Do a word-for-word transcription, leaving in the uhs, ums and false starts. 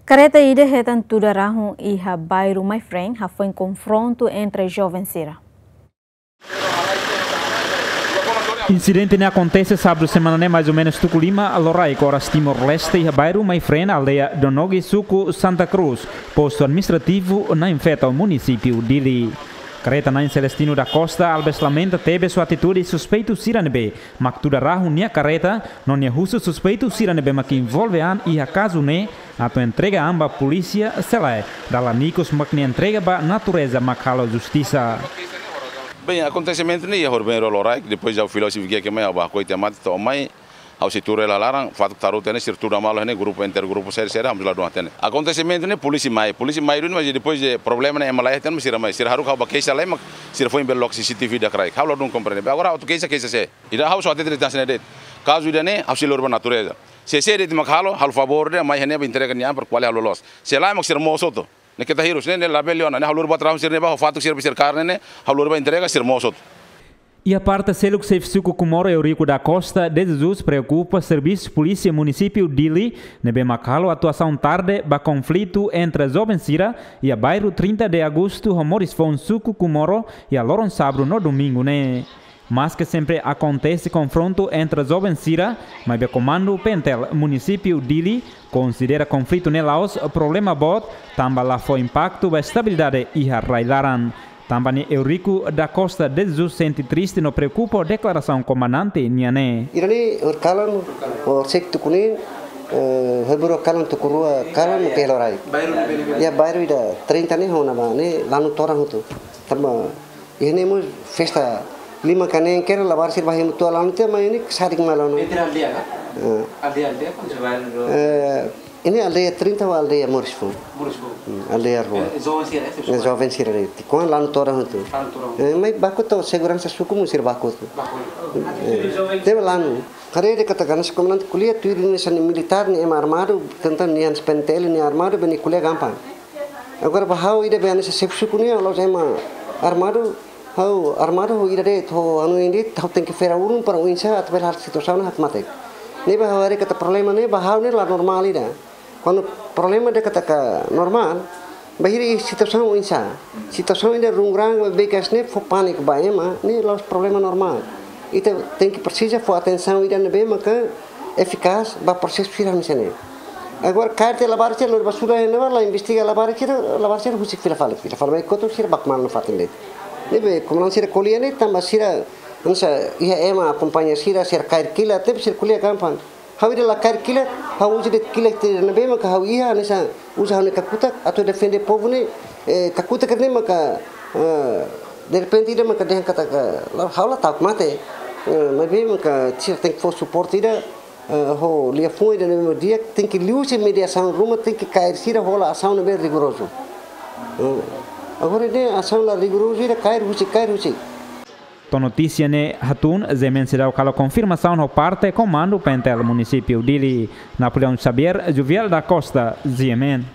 Kareta ida hetan tuda rahun iha bairru Maifreen hafoin konfrontu entre joven sira. Insidente ne'e akontese sábadu semana ne'e, mais ou menus tuku lima loraik oras Timor-Leste, iha bairru Maifreen, aldeia Donogi, suku Santa Cruz, postu administrativu Nain Feto, munisípiu Dili. Kareta Nain Celestino da Costa Alves lamenta tebes ho atitude suspeitu sira ne'ebé mak tuda rahun nia kareta, no nia husu suspeitu sira ne'ebé mak envolve an iha kazu ne'e atu entrega an ba polísia, se lae, dala ikus mak nia entrega ba natureza mak halo justisa. Bem, akontesimentu ne'e iha horibainrua loraik, depois ha'u fila husi Vigia ke mai, ha'u bá hakoi tiha mate to'o mai, ha'u sei tuur hela laran, fatuk taru tene, sira tuur malu ne'e, grupu, intergrupu, sira, sira, ha'u la dún hatene. Akontesimentu ne'e polísia mai, polísia mai duni, mas depois de problema ne'e, ema la iha tan, mas sira mai, sira haruka ha'u bá keixa lai, mak sira foin bele loke C C T V ida kraik. Ha'u la dún komprende. Agora, ha'u atu keixa, keixa sé. Ida ha'u só hatete de'it hanesan ne'e de'it. Kazu ida-ne'e, ha'u sei lori ba natureza. Se sé de'it mak halo, halo favór de'it, mai iha ne'ebá entrega nia an para ko'alia halo loos. Se lae mak sira mosu hotu. Ne'e keta hirus, ne'e, ne'e labele ona, ne'e ha'u lori ba traballu sira ne'ebá, ha'u fatuk sira ba sira karne ne'e, ha'u lori ba entrega sira mosu hotu. Iha parte seluk, xefe suku Comoro Eurico da Costa de Jesus preokupa servisu polísia munisípiu Dili ne'ebé mak halo atuasaun tarde ba konflitu entre joven sira iha bairru trinta de Agosto ho moris foun suku Comoro iha loron sábadu no domingu ne'e. Maske sempre akontese konfrontu entre joven sira, maibé komandu PNTL munisípiu Dili konsidera konflitu ne'e la'ós problema boot, tanba la fó impaktu ba estabilidade iha rai-laran. Tanba ne'e Eurico da Costa de Jesus sente triste no preokupa ho deklarasaun komandante nian ne'e. Ida-ne'e horikalan, horisehik tuku neen, eh, horibainrua kalan, tuku rua kalan, ya, ya, ne'e ke loraik. Bairru ne'ebé? Ya, bairru ida trinta ne'e, hona ba ne'e lanu todan hotu. Tanba iha ne'e mós festa lima ka neen kedas, labarik sira bá hemu tua lanu tiha, mai ne'e sadik malu lanu. Entre aldeia ka? Eh. Aldeia, aldeia, kan? Eh, ne'e aldeia trinta ho aldeia moris foun. Moris foun. Hmm, aldeia rua. Eh, joven sira, eh? Eh, joven sira de'it. Kuan lanu todan hotu. Lanu todan hotu. Eh, mai baku to seguransa suku mós sira baku to. Baku. Eh, tebe lanu. Haree de'it katak hanesan komandante ko'alia, tuir hanesan militár ne'e ema armadu, tenta nia hanesan PNTL nia armadu, bele ko'alia gampang. Agora ba ha'u ida be hanesan xefe suku ne'e, la'ós ema armadu, ha'u armadu ho ida de'it, ho anu ida de'it, ha'u tenke fera ulun para oinsá atu bele halo situasaun ne'e hakmatek. Ne'ebé ha'u haree katak problema ne'e ba ha'u ne'e la normál ida. Kuandu problema de'it katak normál, bainhira iha situasaun oinsá. Situasaun ida rungurang, beikas ne'e fó pániku ba ema, ne'e la'ós problema normál. Ita tenke presiza fó atensaun ida ne'ebé maka efikás ba prosesu sira hanesan ne'e. Agora kaer tiha labarik sira, lori ba sura iha ne'ebá, la investiga labarik sira, labarik sira husik fila fali, fila fali mai kotuk, sira baku malu nafatin de'it. Ne'ebé komandan sira ko'alia ne'e tanba sira hanesan iha ema akompaña sira, sira kaer kilat, tebe sira ko'alia gampang. Ha'u ida la kaer kilat, ha'u uza de'it kilat ida ne'ebé maka ha'u iha, hanesan uza ha'u-nia kakutak atu defende povu ne'e, eh, kakutak ne'e maka, eh, derrepente ida maka dehan katak, la, ha'u la ta'uk mate, eh, maibé maka sira tenke fó suporte ida, eh, ho liafuan ida ne'ebé di'ak, tenke liuhusi mediasaun ruma, tenke kaer sira hola asaun ne'ebé rigorozu. Eh, agora ne'e asaun la rigorozu ida kaer husik, kaer husik. To'o notísia ne'e hatún, GMN seidauk halo konfirmasaun ho parte komandu PNTL munisípiu Dili. Napoleão Xavier, Juviel da Costa, GMN.